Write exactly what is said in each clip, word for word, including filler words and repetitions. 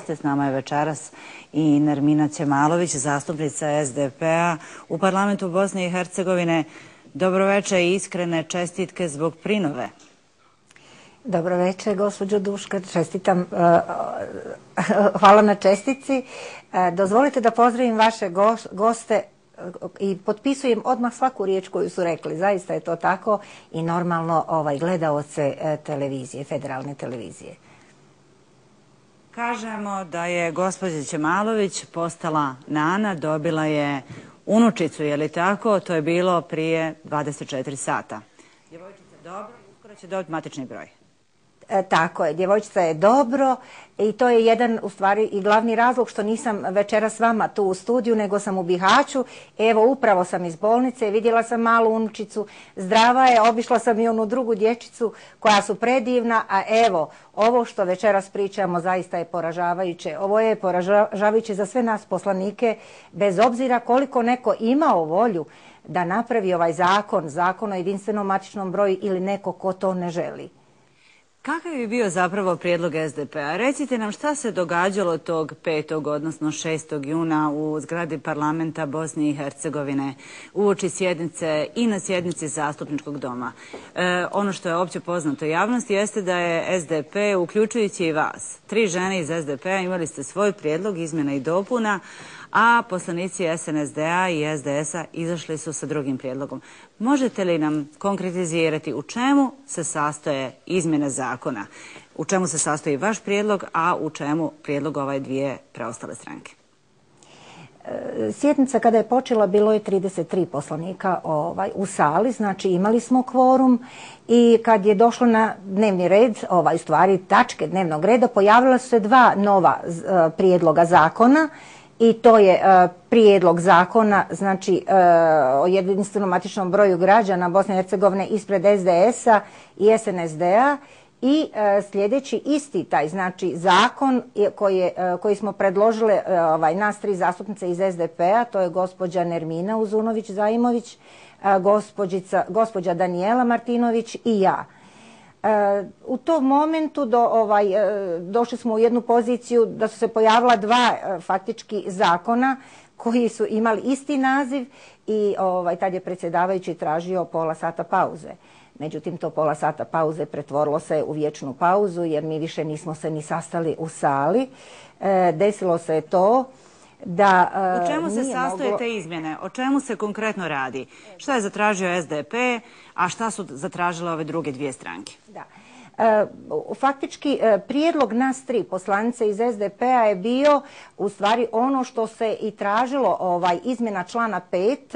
S nama je večeras i Nermina Ćemalović, zastupnica S D P-a u parlamentu Bosne i Hercegovine. Dobroveče i iskrene čestitke zbog prinove. Dobroveče, gospođo Duška, čestitam. Hvala na čestici. Dozvolite da pozdravim vaše goste i potpisujem odmah svaku riječ koju su rekli. Zaista je to tako i normalno gledaoce televizije, federalne televizije. Kažemo da je gospođa Ćemalović postala nana, dobila je unučicu, je li tako? To je bilo prije dvadeset četiri sata. Djevojčica dobro, uskoro će dobiti matični broj. E, tako je, djevojčica je dobro i to je jedan u stvari i glavni razlog što nisam večera s vama tu u studiju, nego sam u Bihaću. Evo, upravo sam iz bolnice, vidjela sam malu unučicu, zdrava je, obišla sam i onu drugu dječicu koja su predivna, a evo, ovo što večeras pričamo zaista je poražavajuće. Ovo je poražavajuće za sve nas poslanike, bez obzira koliko neko imao volju da napravi ovaj zakon, zakon o jedinstvenom matičnom broju ili neko ko to ne želi. Kakav je bio zapravo prijedlog S D P-a? Recite nam šta se događalo tog petog odnosno šestog juna u zgradi parlamenta Bosne i Hercegovine uoči sjednice i na sjednici zastupničkog doma. E, ono što je opće poznato javnosti jeste da je S D P, uključujući i vas, tri žene iz S D P-a, imali ste svoj prijedlog izmjena i dopuna, a poslanici S N S D-a i S D S-a izašli su sa drugim prijedlogom. Možete li nam konkretizirati u čemu se sastoje izmjene zakona? U čemu se sastoji vaš prijedlog, a u čemu prijedlog ove dvije preostale stranke? Sjednica kada je počela bilo je trideset tri poslanika ovaj, u sali, znači imali smo kvorum i kad je došlo na dnevni red, ovaj, stvari tačke dnevnog reda, pojavila su se dva nova uh, prijedloga zakona. I to je uh, prijedlog zakona, znači uh, o jedinstvenom matičnom broju građana Bosne i Hercegovine ispred S D S-a i S N S D-a i uh, sljedeći isti taj, znači zakon koji, je, uh, koji smo predložile uh, ovaj, nas tri zastupnice iz S D P-a, to je gospođa Nermina Uzunović-Zaimović, uh, gospođa Danijela Martinović i ja. Uh, u tom momentu do, ovaj, uh, došli smo u jednu poziciju da su se pojavila dva uh, faktički zakona koji su imali isti naziv i ovaj, tad je predsjedavajući tražio pola sata pauze. Međutim, to pola sata pauze pretvorilo se u vječnu pauzu jer mi više nismo se ni sastali u sali. Uh, desilo se to da uh, U čemu se sastoje moglo... te izmjene? O čemu se konkretno radi? Šta je zatražio S D P, a šta su zatražile ove druge dvije stranke? Da. E, faktički prijedlog nas tri poslanice iz S D P-a je bio u stvari ono što se i tražilo ovaj, izmjena člana pet,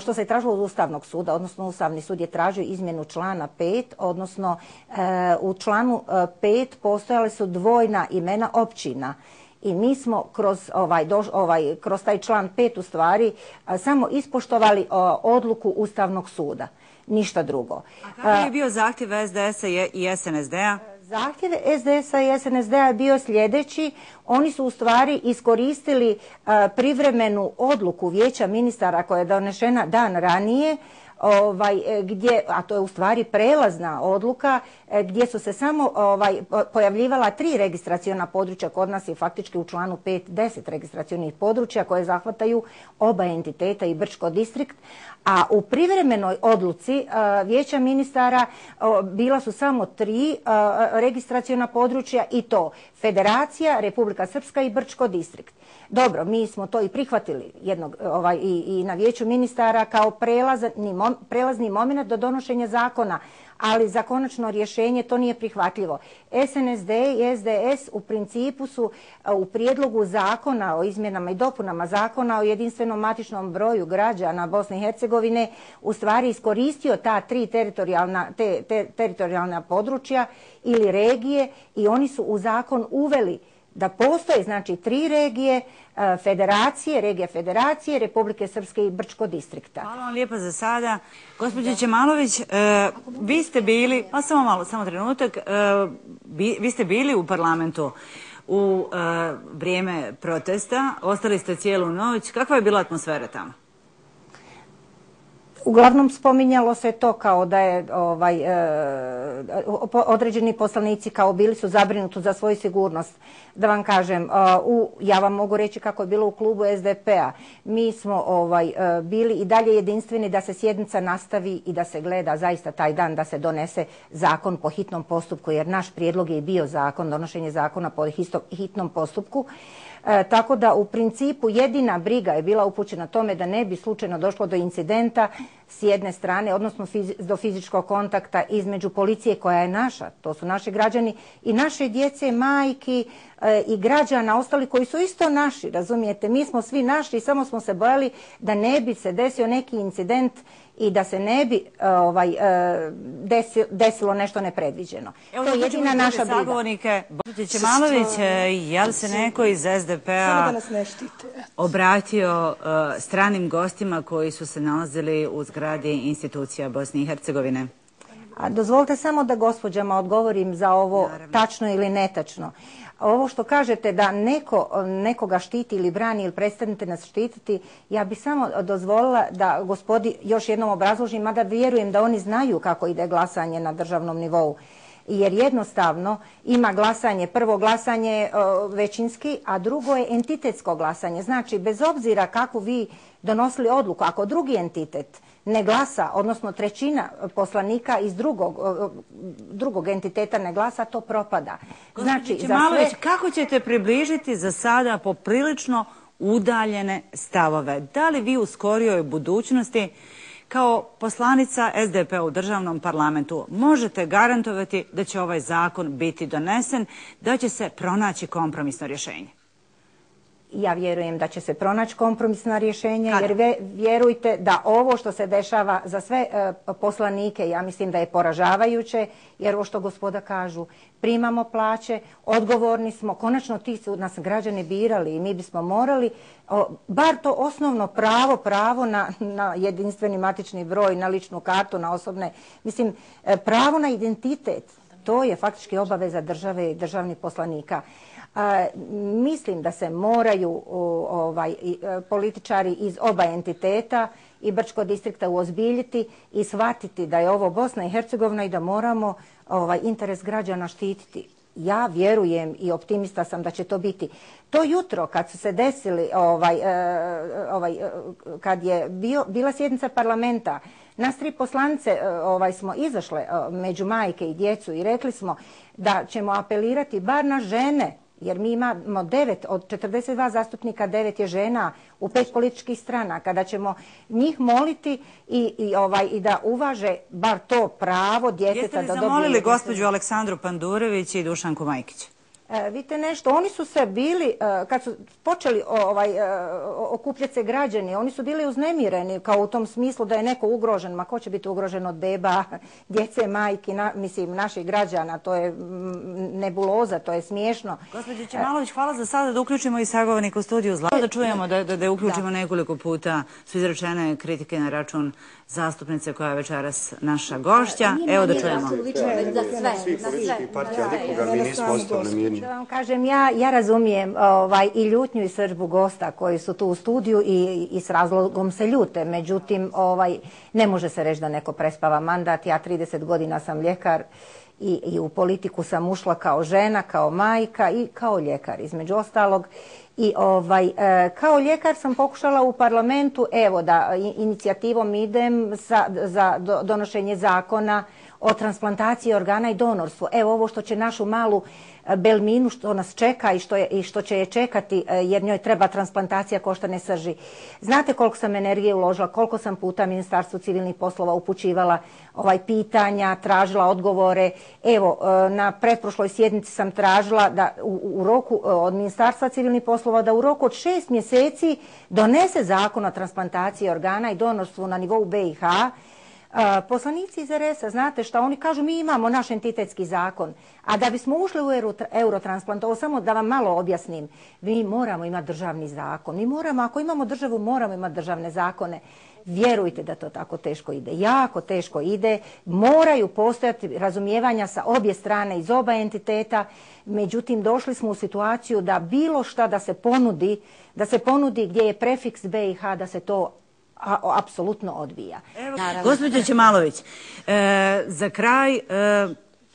što se je tražilo od Ustavnog suda, odnosno Ustavni sud je tražio izmjenu člana pet, odnosno e, u članu pet postojale su dvojna imena općina. I mi smo kroz, ovaj, doš, ovaj, kroz taj član pet u stvari a, samo ispoštovali a, odluku Ustavnog suda. Ništa drugo. A kakav je bio zahtjev S D S-a i S N S D-a? Zahtjev S D S-a i S N S D-a je bio sljedeći. Oni su u stvari iskoristili a, privremenu odluku Vijeća ministara koja je donešena dan ranije, Ovaj, gdje, a to je u stvari prelazna odluka gdje su se samo ovaj, pojavljivala tri registraciona područja, kod nas je faktički u članu pet deset registracionih područja koje zahvataju oba entiteta i Brčko distrikt, a u privremenoj odluci a, Vijeća ministara a, bila su samo tri a, registraciona područja i to Federacija, Republika Srpska i Brčko distrikt. Dobro, mi smo to i prihvatili jednog, ovaj, i, i na Vijeću ministara kao prelazni, mom, prelazni moment do donošenja zakona, ali za konačno rješenje to nije prihvatljivo. S N S D i S D S u principu su u prijedlogu zakona o izmjenama i dopunama zakona o jedinstvenom matičnom broju građana Bosne i Hercegovine u stvari iskoristio ta tri teritorijalna, te, te, teritorijalna područja ili regije i oni su u zakon uveli da postoje znači tri regije, federacije, regija federacije, Republike Srpske i Brčko distrikta. Hvala vam lijepa za sada. Gospođo Ćemalović, e, vi ste bili, pa samo malo, samo trenutak, e, bi, vi ste bili u parlamentu u e, vrijeme protesta, ostali ste cijelu noć. Kakva je bila atmosfera tamo? Uglavnom spominjalo se to kao da je ovaj, e, određeni poslanici kao bili su zabrinuti za svoju sigurnost. Da vam kažem, u, ja vam mogu reći kako je bilo u klubu S D P-a. Mi smo ovaj, bili i dalje jedinstveni da se sjednica nastavi i da se gleda zaista taj dan da se donese zakon po hitnom postupku, jer naš prijedlog je i bio zakon, donošenje zakona po hitnom postupku. E, tako da u principu jedina briga je bila upućena tome da ne bi slučajno došlo do incidenta s jedne strane, odnosno fizi, do fizičkog kontakta između policije koja je naša, to su naši građani, i naše djece, majki e, i građana, ostali koji su isto naši, razumijete, mi smo svi naši i samo smo se bojali da ne bi se desio neki incident i da se ne bi ovaj, desilo, desilo nešto nepredviđeno. Evo, to je jedina naša briga. Sagovornike, Božić Malović, je li se neko iz S D P-a obratio uh, stranim gostima koji su se nalazili u zgradi institucija Bosne i Hercegovine? A dozvolite samo da gospođama odgovorim za ovo Naravno. Tačno ili netačno. Ovo što kažete da neko, nekoga štiti ili brani ili prestanete nas štititi, ja bih samo dozvolila da gospodi još jednom obrazložim, mada vjerujem da oni znaju kako ide glasanje na državnom nivou. Jer jednostavno ima glasanje, prvo glasanje većinski, a drugo je entitetsko glasanje. Znači, bez obzira kako vi donosili odluku, ako drugi entitet ne glasa, odnosno trećina poslanika iz drugog, drugog entiteta ne glasa, to propada. Znači, Malović, sve... kako ćete približiti za sada poprilično udaljene stavove? Da li vi u skorijoj budućnosti kao poslanica S D P-a u državnom parlamentu možete garantovati da će ovaj zakon biti donesen, da će se pronaći kompromisno rješenje? Ja vjerujem da će se pronaći kompromisna rješenja, jer ve, vjerujte da ovo što se dešava za sve e, poslanike, ja mislim da je poražavajuće, jer ovo što gospoda kažu, primamo plaće, odgovorni smo, konačno ti su nas građani birali i mi bismo morali, o, bar to osnovno pravo, pravo na, na jedinstveni matični broj, na ličnu kartu, na osobne, mislim, e, pravo na identitet, to je faktički obaveza države i državnih poslanika. A, mislim da se moraju o, ovaj, političari iz oba entiteta i Brčkog distrikta uozbiljiti i shvatiti da je ovo Bosna i Hercegovina i da moramo ovaj, interes građana štititi. Ja vjerujem i optimista sam da će to biti. To jutro kad su se desili, ovaj, ovaj, kad je bio, bila sjednica parlamenta, nas tri poslanice ovaj, smo izašle među majke i djecu i rekli smo da ćemo apelirati bar na žene, jer mi imamo devet, od četrdeset dva zastupnika, devet je žena u pet političkih strana. Kada ćemo njih moliti i, i, ovaj, i da uvaže bar to pravo djeteta da dobije... Jeste li zamolili gospođu Aleksandru Pandurević i Dušanku Majkić? E, vidite nešto, oni su se bili, e, kad su počeli ovaj, e, okupljati se građani, oni su bili uznemireni kao u tom smislu da je neko ugrožen. Ma ko će biti ugrožen od beba, djece, majki, na, mislim, naših građana, to je nebuloza, to je smiješno. Gospođo Čemalović, hvala za sada da uključimo i sagovornika u studiju Zla. Da čujemo, da, da, da uključimo da. Nekoliko puta su izrečene kritike na račun zastupnice koja je večeras naša gošća. Evo da čujemo. Svih političkih partija, nikoga mi nismo ostali mirni. Da vam kažem, ja, ja razumijem ovaj, i ljutnju i srdbu gosta koji su tu u studiju i, i s razlogom se ljute. Međutim, ovaj, ne može se reći da neko prespava mandat. Ja trideset godina sam ljekar i, i u politiku sam ušla kao žena, kao majka i kao ljekar, između ostalog. I ovaj, e, kao ljekar sam pokušala u parlamentu, evo da inicijativom idem za, za donošenje zakona o transplantaciji organa i donorstvu. Evo ovo što će našu malu Belminu što nas čeka i što, je, i što će je čekati jer njoj treba transplantacija koštane srži. Znate koliko sam energije uložila, koliko sam puta Ministarstvu civilnih poslova upućivala ovaj, pitanja, tražila odgovore. Evo, na pretprošloj sjednici sam tražila da u, u roku od Ministarstva civilnih poslova da u roku od šest mjeseci donese zakon o transplantaciji organa i donorstvu na nivou B i H. Uh, poslanici iz R S-a, znate šta, oni kažu mi imamo naš entitetski zakon, a da bismo ušli u euro, eurotransplant, ovo samo da vam malo objasnim, mi moramo imati državni zakon, mi moramo, ako imamo državu, moramo imati državne zakone. Vjerujte da to tako teško ide, jako teško ide, moraju postojati razumijevanja sa obje strane iz oba entiteta, međutim došli smo u situaciju da bilo šta da se ponudi, da se ponudi gdje je prefiks B i H, da se to apsolutno odbija. Gospođo Ćemalović, e, za kraj, e,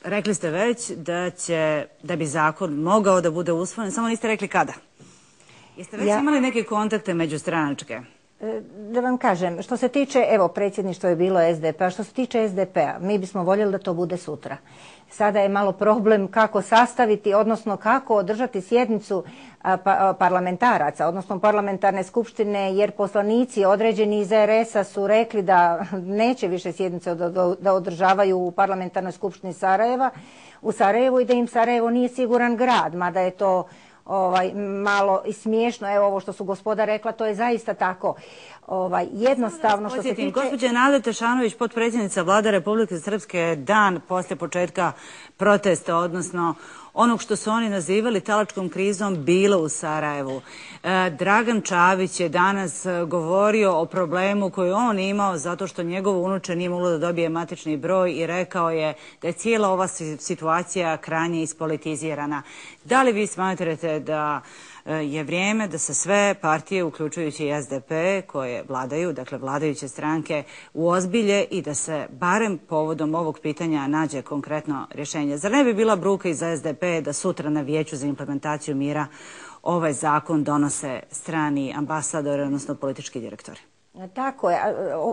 rekli ste već da će, da bi zakon mogao da bude usvojen, samo niste rekli kada. Jeste već ja... imali neke kontakte međustranačke? Da vam kažem, što se tiče, evo, predsjedništvo je bilo S D P-a, što se tiče S D P-a, mi bismo voljeli da to bude sutra. Sada je malo problem kako sastaviti, odnosno kako održati sjednicu pa, parlamentaraca, odnosno parlamentarne skupštine, jer poslanici određeni iz R S-a su rekli da neće više sjednice da, da održavaju u parlamentarnoj skupštini Sarajeva, u Sarajevu i da im Sarajevo nije siguran grad, mada je to Ovaj, malo i smiješno, evo ovo što su gospoda rekla, to je zaista tako. Ovaj, jednostavno što se tiče... Gospođa Nada Tešanović, potpredsjednica Vlade Republike Srpske, dan poslije početka protesta, odnosno onog što su oni nazivali talačkom krizom, bilo u Sarajevu. E, Dragan Čavić je danas govorio o problemu koji on imao zato što njegovo unuče nije moglo da dobije matični broj i rekao je da je cijela ova situacija krajnje ispolitizirana. Da li vi smatrate da je vrijeme da se sve partije, uključujući i S D P, koje vladaju, dakle vladajuće stranke, uozbilje i da se barem povodom ovog pitanja nađe konkretno rješenje? Zar ne bi bila bruka i za S D P da sutra na Vijeću za implementaciju mira ovaj zakon donose strani ambasadori, odnosno politički direktori? Tako je.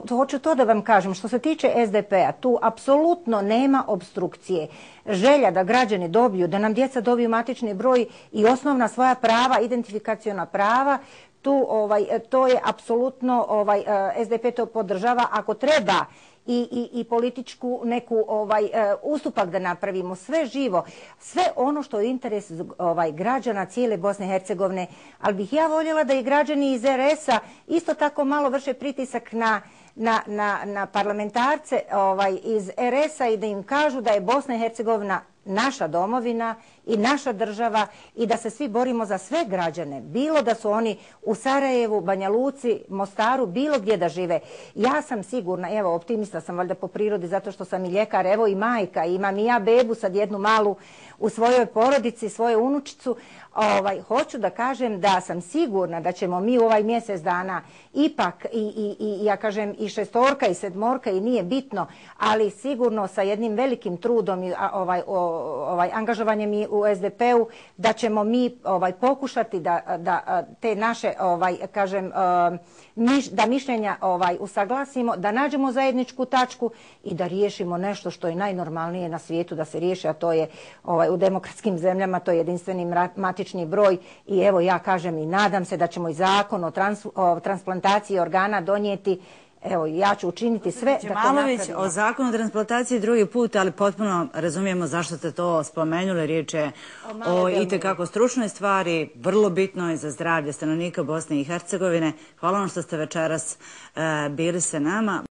Hoću to da vam kažem. Što se tiče S D P-a, tu apsolutno nema obstrukcije. Želja da građani dobiju, da nam djeca dobiju matični broj i osnovna svoja prava, identifikaciona prava, tu ovaj, to je apsolutno, ovaj, S D P to podržava. Ako treba i, i, i političku neku ovaj, ustupak da napravimo, sve živo, sve ono što je interes ovaj, građana cijele Bosne i Hercegovine, ali bih ja voljela da i građani iz R S-a isto tako malo vrše pritisak na Na, na, na parlamentarce ovaj, iz R S-a i da im kažu da je Bosna i Hercegovina naša domovina i naša država i da se svi borimo za sve građane, bilo da su oni u Sarajevu, Banja Luci, Mostaru, bilo gdje da žive. Ja sam sigurna, evo optimista sam valjda po prirodi zato što sam i ljekar, evo i majka, imam i ja bebu sad jednu malu u svojoj porodici, svoju unučicu. Ovaj, hoću da kažem da sam sigurna da ćemo mi u ovaj mjesec dana ipak i, i, i ja kažem i šestorka i sedmorka i nije bitno, ali sigurno sa jednim velikim trudom i ovaj, ovaj, angažovanjem i u S D P-u da ćemo mi ovaj, pokušati da, da te naše ovaj, kažem, miš, da mišljenja ovaj, usaglasimo, da nađemo zajedničku tačku i da riješimo nešto što je najnormalnije na svijetu da se riješi, a to je ovaj, u demokratskim zemljama, to je jedinstveni matični broj i evo ja kažem i nadam se da ćemo i zakon o, trans, o transplantaciji organa donijeti. Evo, ja ću učiniti sve da to napravimo. O zakonu o transplantaciji drugi put, ali potpuno razumijemo zašto ste to spomenuli. Riječ je o, o itekako stručnoj stvari, vrlo bitnoj za zdravlje stanovnika Bosne i Hercegovine. Hvala vam što ste večeras uh, bili sa nama.